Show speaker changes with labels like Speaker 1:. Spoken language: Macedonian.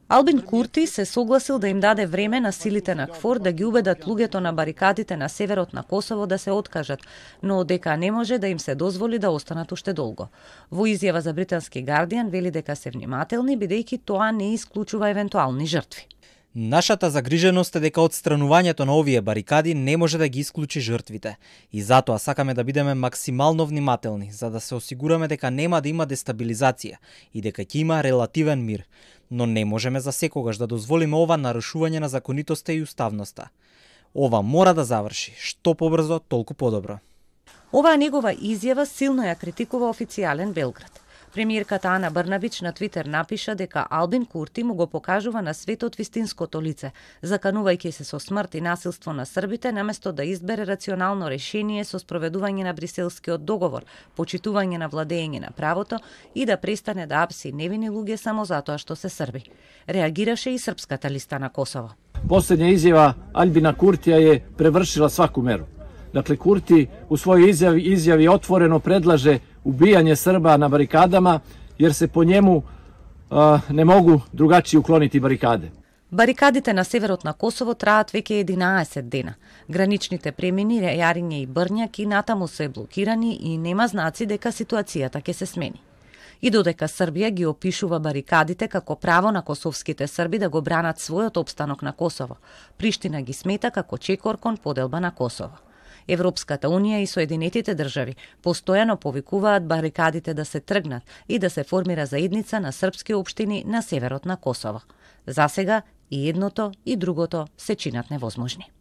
Speaker 1: Албин Курти се согласил да им даде време на силите на КФОР да ги убедат луѓето на барикадите на северот на Косово да се откажат, но дека не може да им се дозволи да останат уште долго. Во изјава за британски Гардијан вели дека се внимателни, бидејќи тоа не исклучува евентуални жртви.
Speaker 2: Нашата загриженост е дека отстранувањето на овие барикади не може да ги исклучи жртвите и затоа сакаме да бидеме максимално внимателни за да се осигураме дека нема да има дестабилизација и дека ќе има релативен мир, но не можеме за секогаш да дозволиме ова нарушување на законитоста и уставноста. Ова мора да заврши, што побрзо, толку подобро.
Speaker 1: Оваа негова изјава силно ја критикува официјален Белград. Премиерката Ана Брнабич на Твитер напиша дека Албин Курти му го покажува на светот вистинското лице, заканувајќи се со смрт и насилство на србите, наместо да избере рационално решение со спроведување на Бриселскиот договор, почитување на владење на правото и да престане да апси невини луѓе само затоа што се срби. Реагираше и Српската листа на Косово.
Speaker 3: Последња изјава Албина Куртија je превршила сваку меру. Dakle, Kurti u svojoj izjavi otvoreno predlaže ubijanje Srba na barikadama, jer se po njemu ne mogu drugačije ukloniti barikade.
Speaker 1: Барикадите на северот на Косово траат веќе 11 дена. Граничните премини Јариње и Брњак и натаму се блокирани и нема знаци дека ситуацијата ќе се смени. И додека Србија ги опишува барикадите како право на косовските срби да го бранат својот опстанок на Косово, Приштина ги смета како чекор кон поделба на Косово. Европската унија и Соединетите држави постојано повикуваат барикадите да се тргнат и да се формира заедница на српски општини на северот на Косово. Засега и едното и другото се чинат невозможни.